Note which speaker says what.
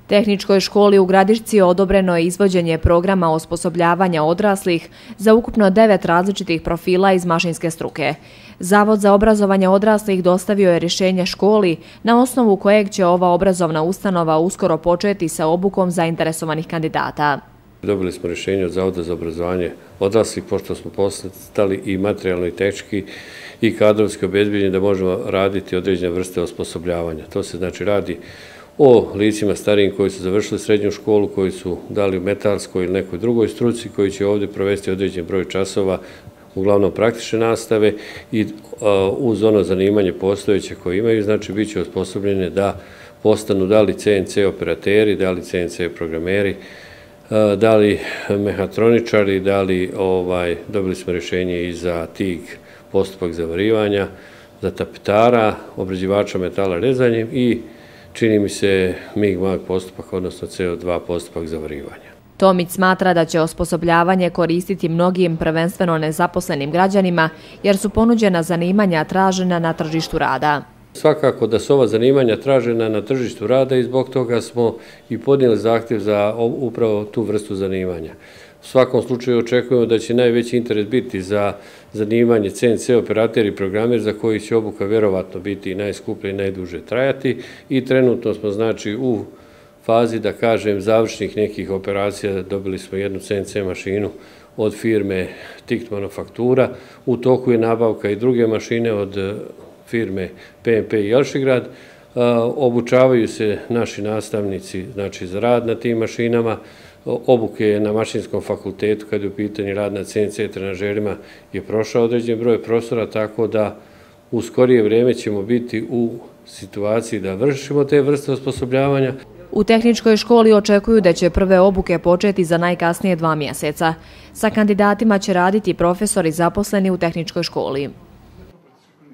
Speaker 1: Tehničkoj školi u Gradišci odobreno je izvođenje programa osposobljavanja odraslih za ukupno 9 različitih profila iz mašinske struke. Zavod za obrazovanje odraslih dostavio je rješenje školi na osnovu kojeg će ova obrazovna ustanova uskoro početi sa obukom zainteresovanih kandidata.
Speaker 2: Dobili smo rješenje od Zavoda za obrazovanje odraslih, pošto smo postali i materijalno i tehnički i kadrovski obezbijeđeni da možemo raditi određene vrste osposobljavanja. To se znači radi o licima starijim koji su završili srednju školu, koji su dali u metalskoj ili nekoj drugoj struci, koji će ovdje provesti određen broj časova, uglavnom praktične nastave i uz ono zanimanje postojeće koje imaju, znači bit će osposobljene da postanu da li CNC operateri, da li CNC programeri, da li mehatroničari, da li dobili smo rješenje i za TIG postupak zavarivanja, za tapetara, obrađivača metala rezanjem i čini mi se MIG-MAG postupak, odnosno CO2 postupak zavarivanja.
Speaker 1: Tomić smatra da će osposobljavanje koristiti mnogim prvenstveno nezaposlenim građanima jer su ponuđena zanimanja tražena na tržištu rada.
Speaker 2: Svakako da su ova zanimanja tražena na tržištu rada i zbog toga smo i podnijeli zahtjev za upravo tu vrstu zanimanja. U svakom slučaju očekujemo da će najveći interes biti za zanimanje CNC operater i programer za koji će obuka vjerovatno biti najskuplja i najduže trajati i trenutno smo znači u fazi, da kažem, završnih nekih operacija. Dobili smo jednu CNC mašinu od firme TICT Manufaktura, u toku je nabavka i druge mašine od firme PMP i Jelšigrad. Obučavaju se naši nastavnici znači za rad na tim mašinama. Obuke na mašinskom fakultetu kad je u pitanju rad na CNC trenažerima je prošao određen broj profesora, tako da u skorije vrijeme ćemo biti u situaciji da vršimo te vrste osposobljavanja.
Speaker 1: U tehničkoj školi očekuju da će prve obuke početi za najkasnije 2 mjeseca. Sa kandidatima će raditi profesori zaposleni u tehničkoj školi.